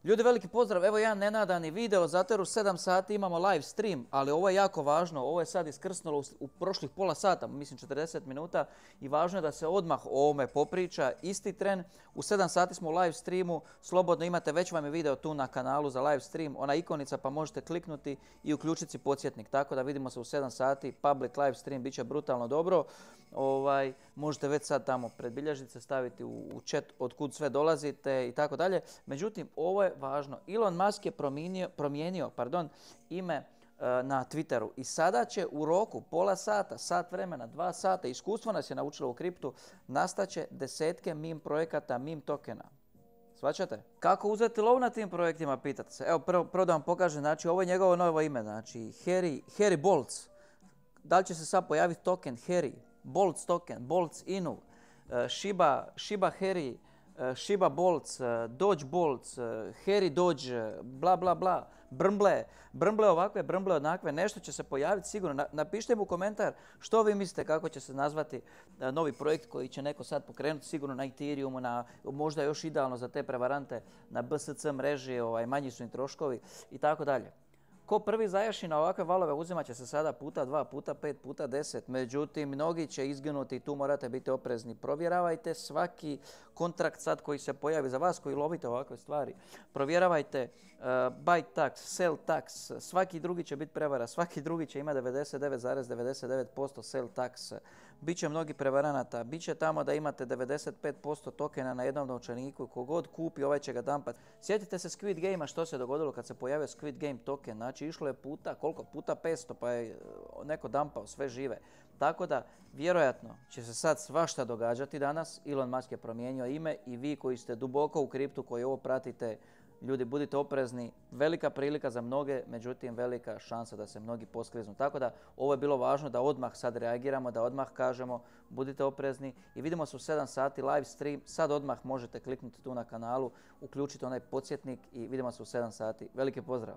Ljudi, veliki pozdrav. Evo jedan nenadani video, zato jer u 7 sati imamo live stream, ali ovo je jako važno. Ovo je sad iskrsnulo u prošlih pola sata, mislim 40 minuta i važno je da se odmah o ovome popriča isti tren. U 7 sati smo u live streamu, slobodno imate, već vam je video tu na kanalu za live stream, ona ikonica pa možete kliknuti i uključiti si podsjetnik. Tako da vidimo se u 7 sati, public live stream, bit će brutalno dobro. Možete već sad tamo predbilježnice staviti u chat od kud sve dolazite i tako dalje. Međutim, ovo je važno. Elon Musk je promijenio ime na Twitteru i sada će u roku pola sata, sat vremena, 2 sata, iskustvo nas je naučilo u kriptu, nastaće desetke meme projekata, meme tokena. Shvaćate? Kako uzeti lov na tim projektima, pitate se. Evo, prvo da vam pokažem, znači ovo je njegovo novo ime, znači Harry Boltz. Da li će se sad pojaviti token Harry, Boltz token, Boltz Inu, Shiba Harry, Shiba Boltz, Doge Boltz, Harry Doge, bla bla bla, Brmble ovakve, Brmble onakve, nešto će se pojaviti sigurno. Napišite mi u komentar što vi mislite kako će se nazvati novi projekt koji će neko sad pokrenuti, sigurno na Ethereumu, možda još idealno za te prevarante na BSC mreži, manji su im troškovi i tako dalje. Ko prvi zajaši na ovakve valove uzimat će se sada puta 2, puta 5, puta 10. Međutim, mnogi će izginuti i tu morate biti oprezni. Provjeravajte svaki kontrakt sad koji se pojavi za vas koji lovite ovakve stvari. Provjeravajte buy tax, sell tax, svaki drugi će biti prevara, svaki drugi će imati 99,99% sell tax. Biće mnogi prevaranata, biće tamo da imate 95% tokena na jednom novčaniku, kogod kupi ovaj će ga dampat. Sjetite se Squid Game-a što se dogodilo kad se pojavio Squid Game token, znači išlo je puta 500 pa je neko dampao sve žive. Tako da vjerojatno će se sad svašta događati danas, Elon Musk je promijenio ime i vi koji ste duboko u kriptu, koji ovo pratite, ljudi, budite oprezni, velika prilika za mnoge, međutim velika šansa da se mnogi poskliznu. Tako da ovo je bilo važno da odmah sad reagiramo, da odmah kažemo budite oprezni i vidimo se u 7 sati live stream. Sad odmah možete kliknuti tu na kanalu, uključiti onaj podsjetnik i vidimo se u 7 sati. Veliki pozdrav!